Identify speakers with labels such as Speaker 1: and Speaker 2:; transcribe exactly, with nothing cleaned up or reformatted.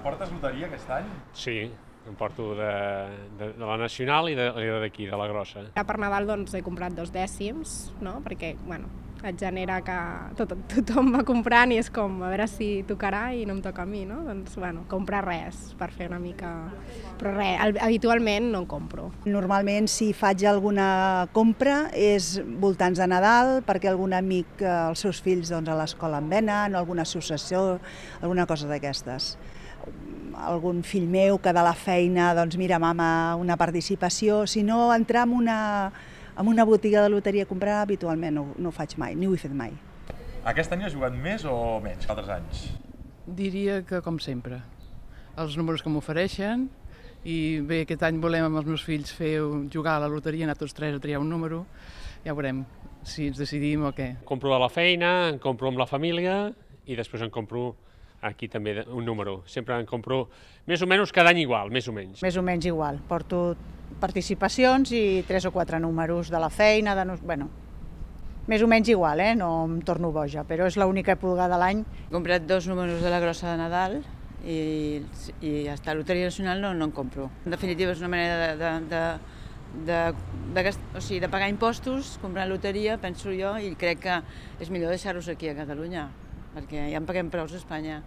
Speaker 1: Portes loteria aquest any?
Speaker 2: Sí, em porto de, de, de la Nacional i d'aquí, de, de la grossa.
Speaker 3: Per Nadal doncs he comprat dos dècims, no? Perquè, bueno, et genera que tot, tothom va comprant i és com a veure si tocarà i no em toca a mi, no? Doncs, bueno, comprar res per fer una mica... Però res, habitualment no en compro.
Speaker 4: Normalment si faig alguna compra és voltants de Nadal perquè algun amic, els seus fills doncs, a l'escola en venen, o alguna associació, alguna cosa d'aquestes. Algun fill meu que de la feina, doncs mira, mama, una participació. Si no, entrar en una, en una botiga de loteria a comprar, habitualment no, no ho faig mai, ni ho he fet mai.
Speaker 1: Aquest any has jugat més o menys que altres anys?
Speaker 5: Diria que com sempre. Els números que m'ofereixen, i bé, aquest any volem amb els meus fills fer jugar a la loteria, anar tots tres a triar un número, ja veurem si ens decidim o què.
Speaker 2: Compro a la feina, en compro amb la família i després en compro aquí també un número. Sempre en compro més o menys cada any igual, més o menys.
Speaker 6: Més o menys igual. Porto participacions i tres o quatre números de la feina, de... bueno, més o menys igual, eh? No em torno boja, però és l'única època de l'any.
Speaker 7: He comprat dos números de la grossa de Nadal i, i hasta la Loteria Nacional no, no en compro. En definitiva és una manera de, de, de, de, de, o sigui, de pagar impostos, comprar loteria, penso jo, i crec que és millor deixar-los aquí a Catalunya, perquè ja en paguem prou a Espanya.